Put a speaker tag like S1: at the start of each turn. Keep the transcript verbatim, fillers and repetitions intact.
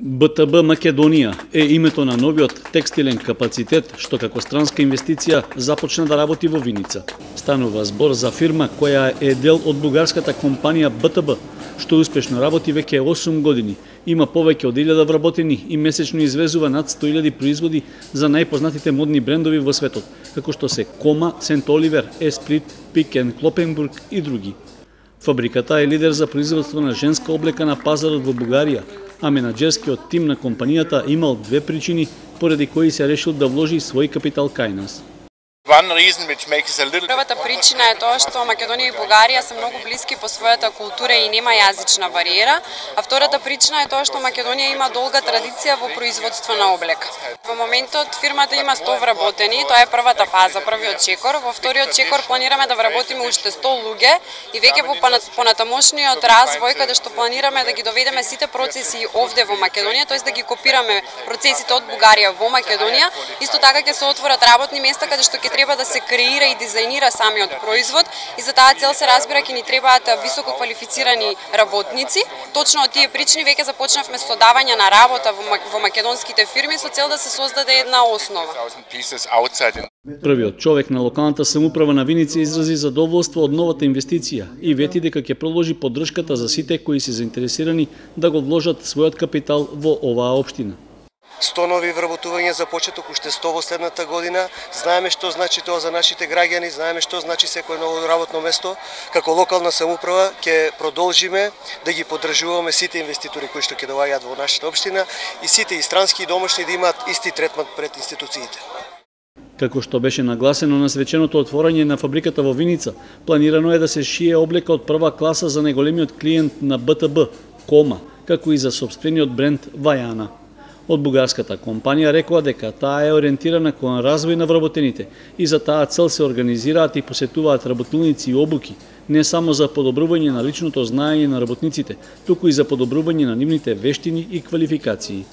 S1: Б Т Б Македонија е името на новиот текстилен капацитет што како странска инвестиција започна да работи во Виница. Станува збор за фирма која е дел од бугарската компанија Б Т Б, што успешно работи веќе осум години. Има повеќе од илјада вработени и месечно извезува над сто илјади производи за најпознатите модни брендови во светот, како што се Кома, Сент Оливер, Есприт, Пик енд Клопенбург и други. Фабриката е лидер за производство на женска облека на пазарот во Бугарија, а менаџерскиот тим на компанијата имал две причини поради кои се решил да вложи свој капитал кај нас.
S2: Првата причина е тоа што Македонија и Бугарија се многу блиски по својата култура и нема јазична бариера, а втората причина е тоа што Македонија има долга традиција во производство на облека. Во моментот фирмата има сто вработени, тоа е првата фаза, првиот чекор. Во вториот чекор планираме да вработиме уште сто луѓе и веќе во понатамошниот развој каде што планираме да ги доведеме сите процеси овде во Македонија, тоест да ги копираме процесите од Бугарија во Македонија. Исто така ќе се отворат работни места каде што ќе треба да се креира и дизајнира самиот производ и за таа цел се разбира ќе ни требаат високо квалифицирани работници. Точно од тие причини веќе започнавме со давање на работа во македонските фирми со цел да се создаде една основа.
S1: Првиот човек на локалната самоуправа на Виница изрази задоволство од новата инвестиција и вети дека ќе продолжи поддршката за сите кои се заинтересирани да го вложат својот капитал во оваа општина.
S3: сто нови вработувања за почеток, уште сто во следната година. Знаеме што значи тоа за нашите граѓани, знаеме што значи секое ново работно место. Како локална самоуправа ќе продолжиме да ги поддржуваме сите инвеститори кои што ќе доаѓаат во нашата општина и сите и странски и домашни да имаат исти третман пред институциите.
S1: Како што беше нагласено на свеченото отворање на фабриката во Виница, планирано е да се шие облека од прва класа за најголемиот клиент на Б Т Б, Кома, како и за сопствениот бренд Вајана. Од бугарската компанија рекоа дека таа е ориентирана кон развој на вработените и за таа цел се организираат и посетуваат работилници и обуки, не само за подобрување на личното знаење на работниците, туку и за подобрување на нивните вештини и квалификации.